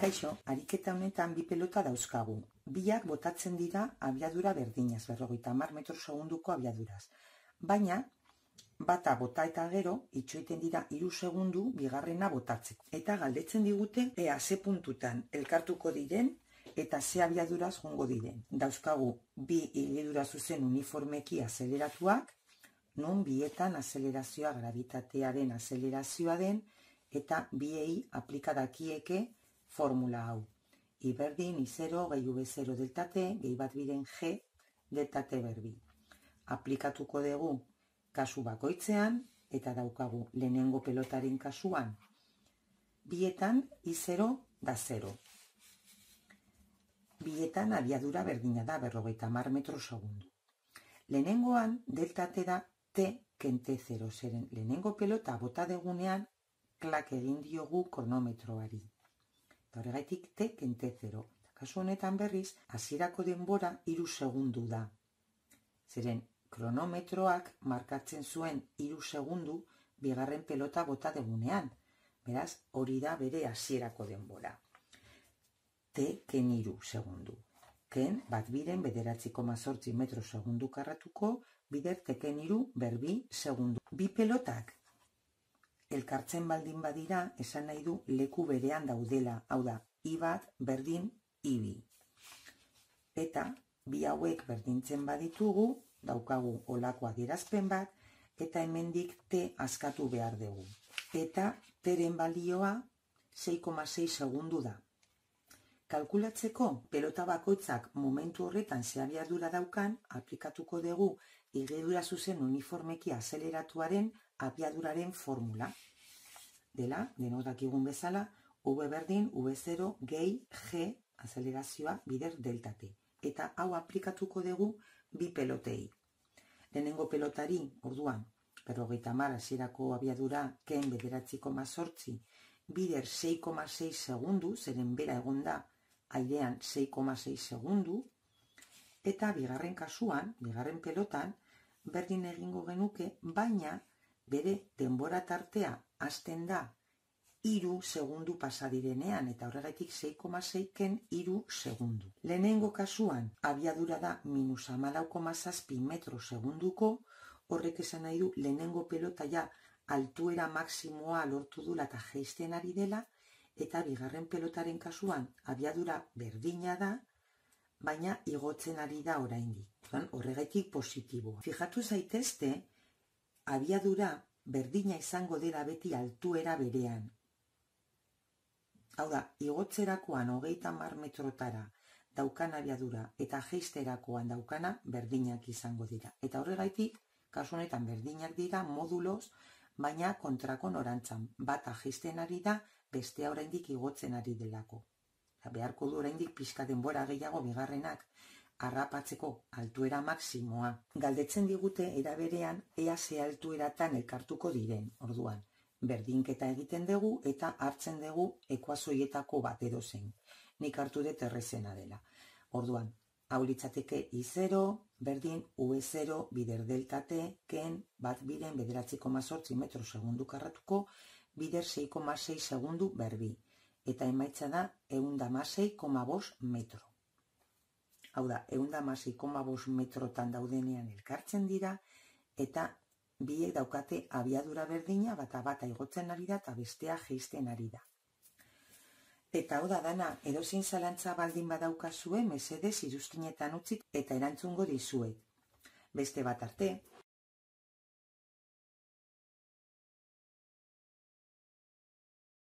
Kaixo, ariketa honetan bi pelota dauzkagu. Biak botatzen dira abiadura berdinaz, 50 metro segunduko abiaduraz. Baina, bata bota eta gero, itxoiten dira 3 segundu bigarrena botatzeko. Eta galdetzen digute, ea ze puntutan elkartuko diren eta ze abiaduraz jongo diren. Dauzkagu bi higidura zuzen uniformeki azeleratuak, non bietan azelerazioa gravitatearen azelerazioa den, eta biei aplikadakieke formula hau. I berdin, I0, gehi V0 delta T, gehi bat biren G delta T berbi. Aplikatuko dugu kasu bakoitzean, eta daukagu lehenengo pelotaren kasuan. Bietan I0 da 0. Bietan abiadura berdina da, 50 metro segundu. Lehenengoan delta T da T ken T0, zeren lehenengo pelota bota degunean klak egin diogu kronometroari. Horregaitik T ken T0. Kasu honetan berriz, hasierako denbora 3 segundu da. Zeren, kronometroak markatzen zuen 3 segundu bigarren pelota bota degunean. Beraz, hori da bere hasierako denbora. T ken 3 segundu. Ken, bat biren 9,8 metro segundu karratuko, bider T ken 3 berbi segundu. Bi pelotak elkartzen baldin badira, esan nahi du leku berean daudela, hau da, I bat berdin I bi. Eta, bi hauek berdintzen baditugu, daukagu olako adierazpen bat, eta hemendik T askatu behar dugu. Eta, T-ren balioa 6,6 segundu da. Kalkulatzeko, pelota bakoitzak momentu horretan ze abiadura daukan, aplikatuko dugu higidura zuzen uniformeki azeleratuaren abiaduraren formula. Dela, denok dakigun bezala, V berdin, V0, gehi, G, azelerazioa, bider delta T. Eta hau aplikatuko dugu bi pelotei. Lehenengo pelotari, orduan, 50 hasierako abiadura, ken 9,8, bider 6,6 segundu, zeren bera egonda, airean 6,6 segundu, eta bigarren kasuan, bigarren pelotan, berdin egingo genuke, baina bere denbora tartea hasten da 3 segundu pasadirenean, eta horregaitik 6,6 ken 3 segundu. Lehenengo kasuan, abiadura da minus 14,7 metro segunduko, horrek esan nahi du lehenengo pelota ja altuera maksimoa lortu dula eta jeisten ari dela, eta bigarren pelotaren kasuan abiadura berdina da, baina igotzen ari da oraindik. Horregaitik positiboa. Fijatu zaitezte, abiadura berdina izango dela beti altuera berean. Hau da, igotzerakoan 30 metrotara daukan abiadura eta jeisterakoan daukana berdinak izango dira. Eta horregaitik, kasu honetan berdinak dira moduloz, baina kontrako norantzan. Bata jeisten ari da, bestea oraindik igotzen ari delako. Beharko du oraindik pixka denbora gehiago bigarrenak harrapatzeko altuera maksimoa. Galdetzen digute eraberean ea ze altueratan elkartuko diren, orduan. Berdinketa egiten dugu eta hartzen dugu ekuazioietako bat edozein. Nik hartu dut errezena dela. Orduan, hau litzateke I0, berdin V0, bider delta T, ken bat biren 9,8 metro segundu karratuko, bider 6,6 segundu berbi. Eta emaitza da 116,5 metro. Hau da, 116,5 metrotan daudenean elkartzen dira, eta biek daukate abiadura berdina, bata igotzen ari da, eta bestea jeisten ari da. Eta hau da dana, edozein zalantza baldin badaukazue, mesedez iruzkinetan utzit eta erantzungo dizuet. Beste bat arte.